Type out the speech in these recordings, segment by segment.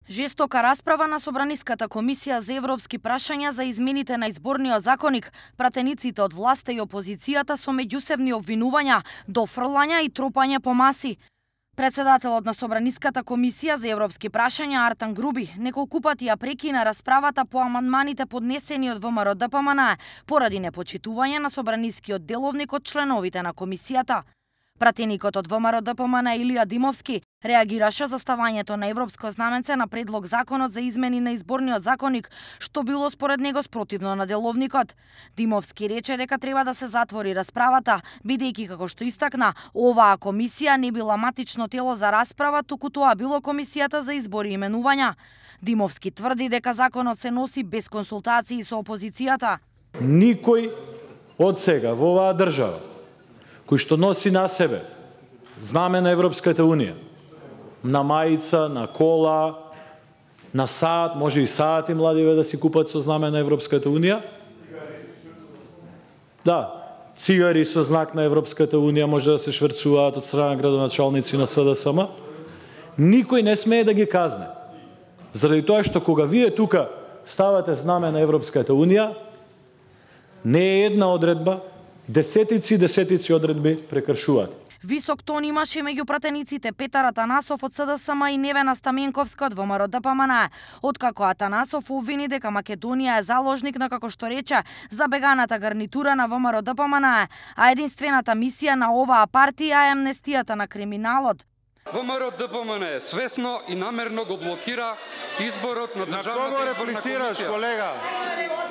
Жестока расправа на Собраниската комисија за европски прашања за измените на изборниот законник, пратениците од власта и опозицијата со меѓусебни обвинувања, дофрлања и тропање по маси. Председателот на Собраниската комисија за европски прашања Артан Груби неколку пати ја прекина расправата по амандманите поднесени од ВМРО-ДПМН поради непочитување на собранискиот деловник од членовите на комисијата. Пратеникот од ВМРО-ДПМН Илија Димовски реагираше за ставањето на европско знаменце на предлог законот за измени на изборниот законник, што било според него спротивно на деловникот. Димовски рече дека треба да се затвори расправата, бидејќи како што истакна, оваа комисија не била матично тело за расправа, туку тоа било комисијата за избори и именувања. Димовски тврди дека законот се носи без консултации со опозицијата. Никој од сега во оваа држава кој што носи на себе знаме на Европската Унија, на мајца, на кола, на саат, може и саат и младиве да си купат со знаме на Европската Унија. Да, цигари со знак на Европската Унија може да се шверцуваат од страна градоначалници на СДСМ. Никој не смее да ги казне. Заради тоа што кога вие тука ставате знаме на Европската Унија, не е една одредба, десетици одредби прекршуваат. Висок тон имаше меѓу пратениците Петар Атанасов од СДСМ и Невена Стаменковска од ВМРО-ДПМН, откако Атанасов обвини дека Македонија е заложник на, како што рече, забеганата гарнитура на ВМРО-ДПМН, а единствената мисија на оваа партија е амнестијата на криминалот. ВМРО-ДПМН свесно и намерно го блокира изборот на државната изборна комисија. На кого реплицираш, колега?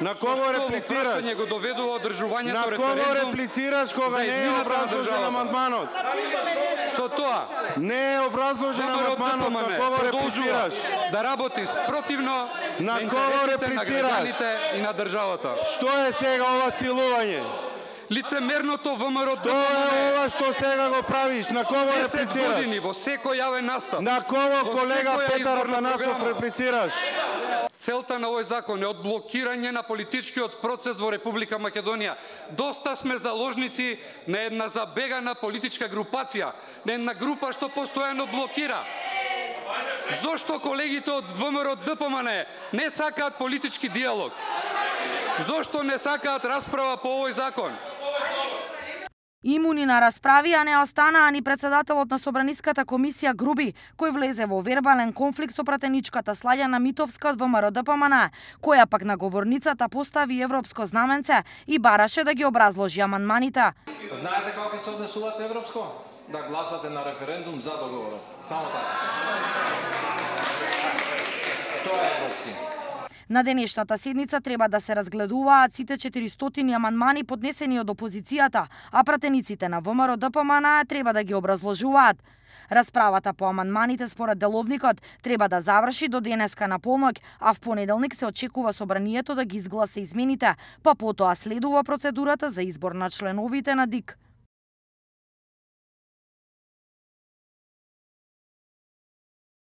На кого реплицираш? Го доведува одржувањето на кого реплицираш кога не е образложен амандманот? Со тоа не е образложен амандманот, на кого реплицираш? Да работи спротивно на кого реплицираш и на државата. Што е сега ова силување? Лицемерното ВМРО-ДПМН. Што е ова што сега го правиш? На кого реплицираш? 10 години во секој јавен настап. На кого, колега Петар Атанасов, реплицираш? Целта на овој закон е одблокирање на политичкиот процес во Република Македонија. Доста сме заложници на една забегана политичка групација, на една група што постојано блокира. Зошто колегите од ВМРО-ДПМН не сакаат политички диалог? Зошто не сакаат расправа по овој закон? Имуни на расправи, а не останаа ни председателот на Собраниската комисија Груби, кој влезе во вербален конфликт со пратеничката Слаѓана Митовска од ВМРО-ДПМН, која пак на говорницата постави европско знаменце и бараше да ги образложи амандманите. Знаете како ќе се однесувате европско? Да гласате на референдум за договорот. Само така. Тоа е европски. На денешната седница треба да се разгледуваат сите 400 амандмани поднесени од опозицијата, а пратениците на ВМРО-ДПМН треба да ги образложуваат. Расправата по амандманите според деловникот треба да заврши до денеска на полноќ, а в понеделник се очекува собранието да ги изгласа измените, па потоа следува процедурата за избор на членовите на ДИК.